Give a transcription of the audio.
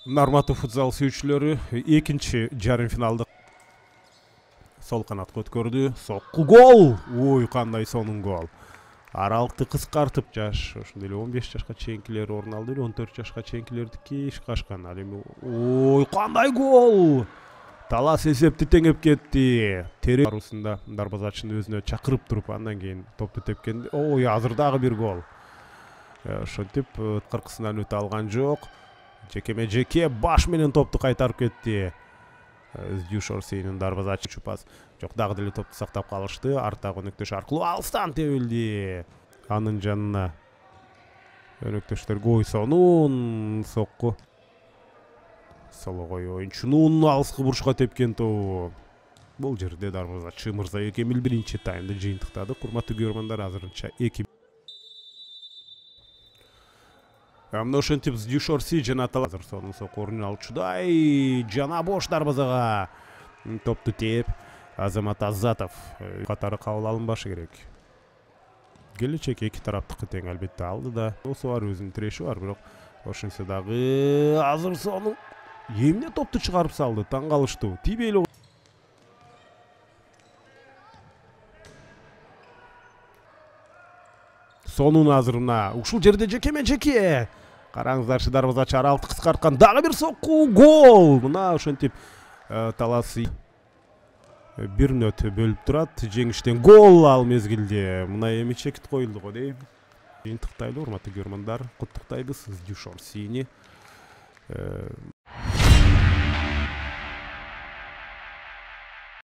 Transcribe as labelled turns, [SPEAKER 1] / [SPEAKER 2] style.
[SPEAKER 1] Урматтуу футзал сүйүүчүлөрү, экинчи жарым финалды сол канатка өткөрдү. Сокку гол. Ой, кандай сонун гол. Аралыкты кыскартып, жаш ошондой эле 15 жашка чейинкилер орун алды, 14 жашка чейинкилердики ишке ашкан. Ал эми ой, кандай гол! Талас эсепти теңеп кетти. Терек арасында дарбазачыны өзүнө чакырып туруп, андан кийин топту тепкен. Ой, азыр дагы бир гол. Ошентип кыркысынан өтө алган жок. Жеке баш менен топту кайтарып кетти. Дюшорсинин дарбазачы чупас. Жок, дагы деле топту сактап калышты. Арттагы өнөктөш аркылуу алыстан тебилди. Анын жанына өнөктөштөр гой сонун сокку. Сологой оюнчунун алыскы бурушка тепкен тобу. Бул жерде дарбазачы мырза Экемил биринчи таймды жыйынтыктады. Урматтуу көрөрмандар, азырынча 2. Мына ошентип Дюшорси жана Талазыр сонун сокку орун алчудай жана бош дарбазага топту теп. Азамат Азатов катары кабыл алынбашы керек. Келечек эки тараптыкы тең албетте алды да. Осу бар, өзүнүн тиреши бар, бирок ошентсе дагы азыр сонун эмне топту чыгарып салды, таң калыштуу. Тийбей сонун азыр мына ушул жерде жеке. Караңыздарчы, дарбазачы аралыкты кыскарткан, дагы бир сокку гол. Мына ошентип таласы бир нөт бөлүп турат. Жеңиштен гол ал мезгилде. Мына эми чекит коюлду го дейм. Жыйынтыктайлы, урматтуу көрөрмандар, куттуктайбыз Дюшорсини.